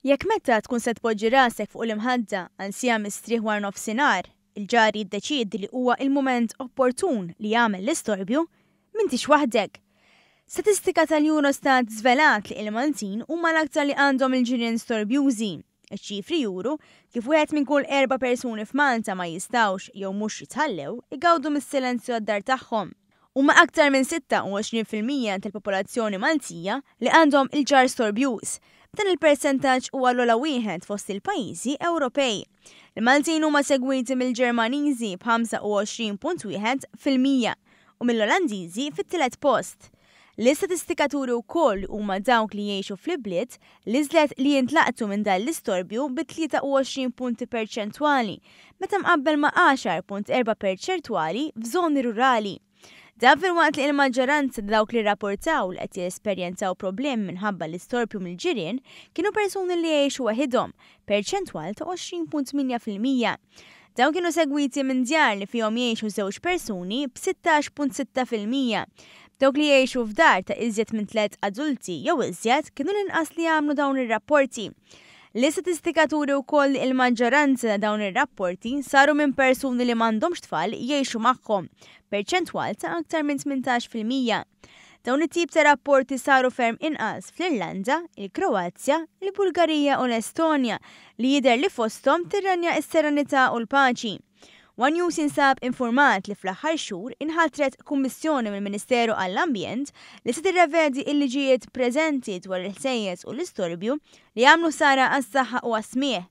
Jekk meta tkun se tpoġġi rasek fuq l-imħadda għal siegħa mistrieħ wara nofsinhar, il-ġar jiddeċiedi li huwa il-mument opportun li jagħmel l-istorbju, m'intix waħdek. Statistika tal-Eurostat żvelat li il-Maltin huma l-aktar li għandhom il-ġirien storbjużi. Iċ-ċifri juru kif wieħed minn kull erba' persuni f'Malta ma jistgħux jew mhux jitħallew igawdu mis-silenzju għad-dar tagħhom. Huma aktar minn 26% tal-popolazzjoni Maltija li għandhom il-ġar storbjuż. B'dan il-persentaġġ huwa l-ogħla wieħed fost il-pajjiżi Ewropej. Il-Maltin huma segwiti mill-Ġermaniżi b'25.1% u mill-Olandiżi fit-tielet post. L-istatistika turi wkoll li huma dawk li jgħixu fl-ibliet l-iżjed li jintlaqtu minn dan l-istorbju bi 23 punti perċentwali meta mqabbel ma' 10.4 perċentwali f'żoni rurali. Dan filwaqt li l-maġġoranza ta' dawk li rrapportaw li qed jesperjenzaw problemi minħabba l-istorbju mill-ġirien kienu persuni li jgħixu waħidhom, perċentwal ta' 20.8%. Dawn kienu segwiti minn djar li fihom jgħixu żewġ persuni b'16.6%. Dawk li jgħixu f'dar ta' iżjed minn tliet adulti jew iżjed kienu l-inqas li għamlu dawn ir-rapporti. L-istatistika turi wkoll li l-maġġoranza ta' dawn ir-rapporti saru minn persuni li m'għandhomx tfal jgħixu magħhom, perċentwal ta' aktar minn 18%. Dawn it-tip ta' rapporti saru ferm inqas fl-Irlanda, il-Kroazja, il-Bulgarija u l-Estonja li jidher li fosthom tirrenja s-serenità u l-paċi. One News jinsab infurmat li fl-aħħar xhur inħatret kummissjoni mill-Ministeru għall-Ambjent li se tirrevedi l-liġijiet preżenti dwar il-ħsejjes u l-istorbju li jagħmlu ħsara għas-saħħa u għas-smigħ.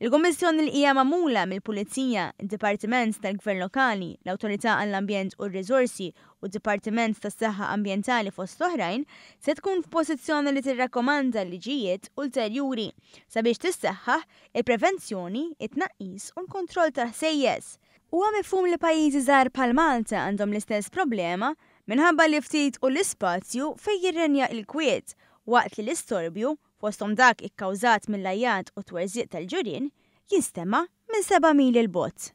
Il-Kummissjoni li hija magħmula mill-Pulizija, id-Dipartiment tal-Gvern Lokali, l-Awtorità għall-Ambjent u r-Riżorsi u d-Dipartiment tas-Saħħa Ambjentali fost oħrajn, se tkun f'pożizzjoni li tirrakkomanda liġijiet ulterjuri sabiex tissaħħaħ il-prevenzjoni, it-tnaqqis u l-kontroll tal-ħsejjes. Huwa mifhum li pajjiżi żgħar bħal Malta għandhom l-istess problema minħabba li ftit hu l-ispazju fejn jirrenja l-kwiet waqt li l-istorbju, fosthom dak ikkawżat mill-għajjat u t-twerżiq tal-ġirien, jinstema' minn seba' mili 'l bogħod.